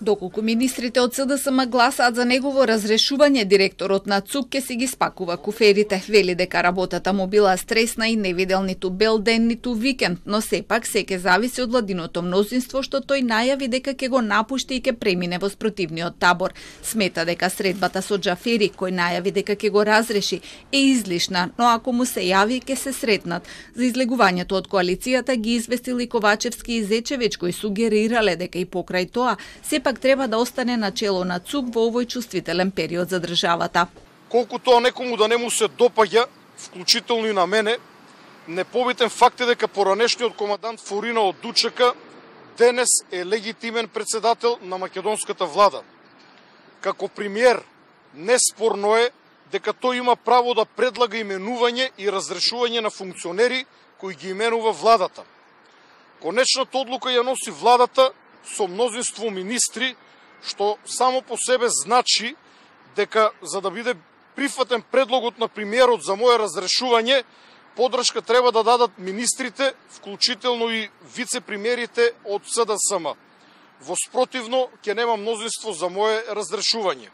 Доколку министрите од СДСМ гласаат за негово разрешување, директорот на ЦУК ќе си ги спакува куферите. Вели дека работата му била стресна и не видел ниту бел ден, ниту викенд, но сепак се ќе зависи од владиното мнозинство, што тој најави дека ќе го напушти и ќе премине во спротивниот табор. Смета дека средбата со Џафери, кој најави дека ќе го разреши, е излишна, но ако му се јави, ќе се сретнат. За излегувањето од коалицијата ги известили Ковачевски и Зечевич, кои сугерирале дека и покрај тоа сепак треба да остане на чело на ЦУК во овој чувствителен период за државата. Колку тоа некому да не му се допаѓа, вклучително и на мене, непобитен факт е дека поранешниот командант Фурина од ДУЧК денес е легитимен председател на македонската влада. Како премиер, неспорно е дека тој има право да предлага именување и разрешување на функционери кои ги именува владата. Конечната одлука ја носи владата со мнозинство министри, што само по себе значи дека за да биде прифатен предлогот на премиерот за моје разрешување, поддршка треба да дадат министрите, вклучително и вице-премиерите од СДСМ. Во спротивно, ќе нема мнозинство за моје разрешување.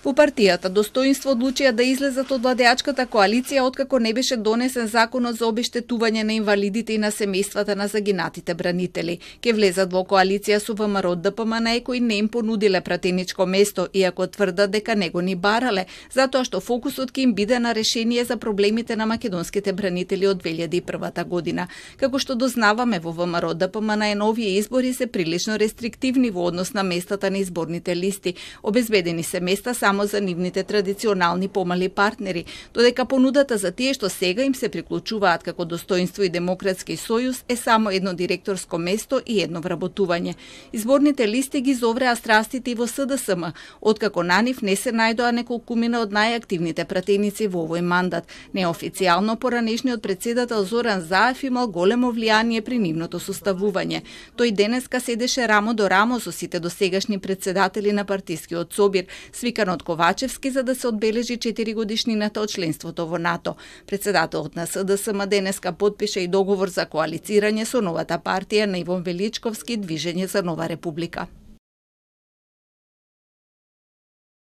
Во партијата Достоинство одлучија да излезат од владеачката коалиција откако не беше донесен законот за обештетување на инвалидите и на семејствата на загинатите бранители. Ке влезат во коалиција со ВМРО ДПМН кои не им понудиле пратеничко место, иако тврдат дека не го ни барале, затоа што фокусот ќе им биде на решение за проблемите на македонските бранители од 2001 година. Како што дознаваме во ВМРО ДПМН, новите избори се прилично рестриктивни во однос на местата на изборните листи. Обезбедени се места само за нивните традиционални помали партнери, додека понудата за тие што сега им се приклучуваат како Достоинство и Демократски сојуз е само едно директорско место и едно вработување. Изборните листи ги зовреа страстите и во СДСМ, откако на нив не се најдоа неколкумина од најактивните пратеници во овој мандат. Неофицијално поранешниот председател Зоран Заев имал големо влијание при нивното составување. Тој денеска седеше рамо до рамо со сите досегашни председатели на партискиот собир, свикан од Ковачевски за да се одбележи 4 годишнината од членството во НАТО. Председателот на СДСМ денеска потпише и договор за коалицирање со новата партија на Ивон Величковски Движење за нова република.